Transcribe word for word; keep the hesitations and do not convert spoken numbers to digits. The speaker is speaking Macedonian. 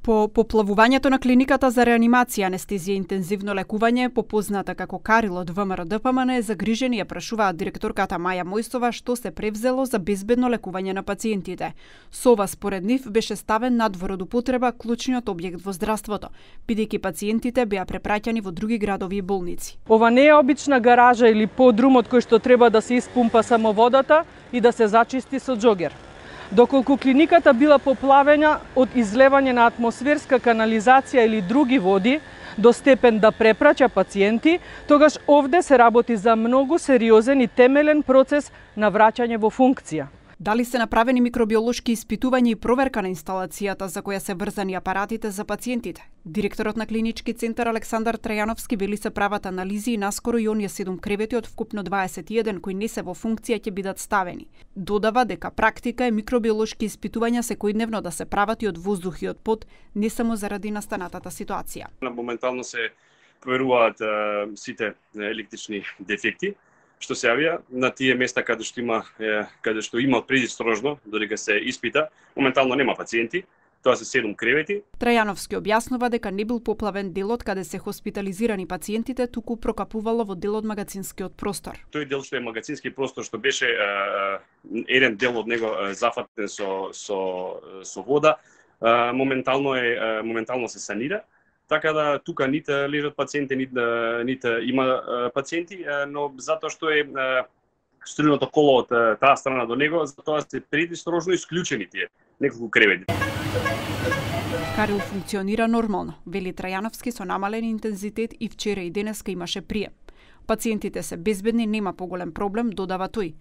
По поплавувањето на клиниката за реанимација, анестезија и интензивно лекување, попозната како Карил од ВМРО-ДПМН, е загрижен и ја прашуваат директорката Маја Мојсова што се превзело за безбедно лекување на пациентите. Со ова, според нив, беше ставен надвор од употреба клучниот објект во здравството, бидејќи пациентите беа препраќани во други градови и болници. Ова не е обична гаража или подрум од кој што треба да се испумпа само водата и да се зачисти со џогер. Доколку клиниката била поплавена од излевање на атмосферска канализација или други води до степен да препраќа пациенти, тогаш овде се работи за многу сериозен и темелен процес на враќање во функција. Дали се направени микробиолошки испитувања и проверка на инсталацијата за која се врзани апаратите за пациентите? Директорот на клинички центар Александар Трајановски вели се прават анализи и наскоро и оние седум кревети од вкупно дваесет и еден кои не се во функција ќе бидат ставени. Додава дека практика е микробиолошки испитувања секојдневно да се прават и од воздух и од под, не само заради настанатата ситуација. Моментално се проверуваат сите електрични дефекти што се јавија на тие места каде што има каде што има предистрожно додека се испита. Моментално нема пациенти. Тоа се седум кревети. Трајановски објаснува дека не бил поплавен делот каде се хоспитализирани пациентите, туку прокапувало во дел од магазинскиот простор. Тој дел што е магазински простор, што беше еден дел од него зафатен со со со вода, моментално е моментално се санира. Така да тука ните лежат пациенти, ните, ните има пациенти, но затоа што е струјното коло од таа страна до него, затоа се предистрожно исклучени тие неколку кревети. Карил функционира нормално, вели Трајановски, со намален интензитет и вчера и денеска имаше прием. Пациентите се безбедни, нема поголем проблем, додава тој.